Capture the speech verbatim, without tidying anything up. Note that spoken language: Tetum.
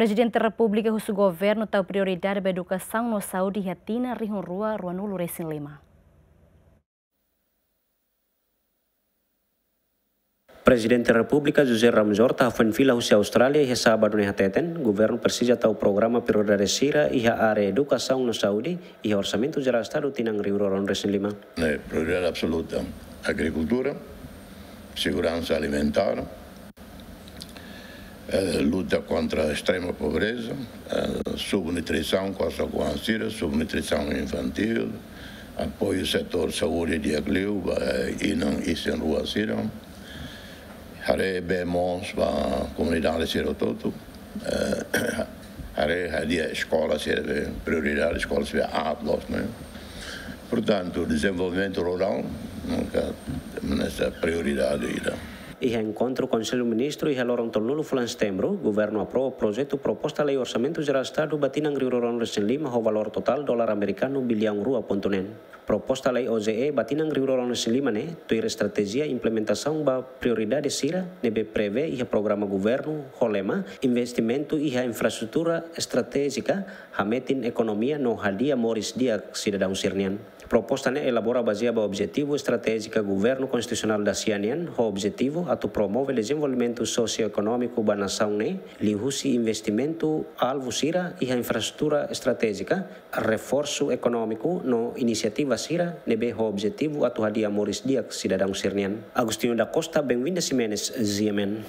Prezidente Repúblika husu governu tau prioridade ba edukasaun no saúde iha tinan rihun rua ruanulu resin lima. Prezidente Repúblika José Ramos Horta hafoin fila husi Austrália iha sábadu ne'e hateten, governu presiza tau programa prioridade sira iha área edukasaun no saúde iha Orsamentu Jerál Estadu tinan rihun rua ruanulu resin lima. Ne'e prioridade absoluta: agrikultura, seguransa alimentár, eh, luta kontra estrema pobreza, eh, subnutrisaun, kosta kuan sira, subnutrisaun infantíl, apoiu setór saúde di'ak liu ba inan isin-rua sira. Haree bee moos ba komunidade sira hotu-hotu. Eh, haree hadi'a eskola sira be prioridade, eskola sira aat loos, ne'e. Portantu, dezenvolvimentu rurál, nunka, ne'e prioridade ida. Iha enkontru Konsellu Ministru iha loron tolunulu fulan Setembru, governu aprova projetu proposta lei Orsamentu Jerál Estadu ba tinan rihun rua ruanulu resin lima ho valór totál dolar amerikanu biliaun rua pontu neen. Proposta lei O J E ba tinan rihun rua ruanulu resin lima ne'e tuir estratéjia implementasaun ba prioridade sira ne'ebé prevee iha programa governu ho lema investimentu iha infraestrutura estratéjika, hametin ekonomia no hadi'a moris di'ak sidadaun sira-nian. Proposta ne'e elabora bazeia ba objetivu estratéjika governu konstitusionál dasia nian, ho objetivu atu promove dezenvolvimentu sosioekonómiku ba nasaun ne'e liuhusi investimentu alvu sira iha infraestrutura estratéjika, reforsu ekonómiku no inisiativa sira ne'ebé ho objetivu atu hadi'a moris di'ak sidadaun sira-nian. Agostinho da Costa, Benvinda Ximenes, G M N.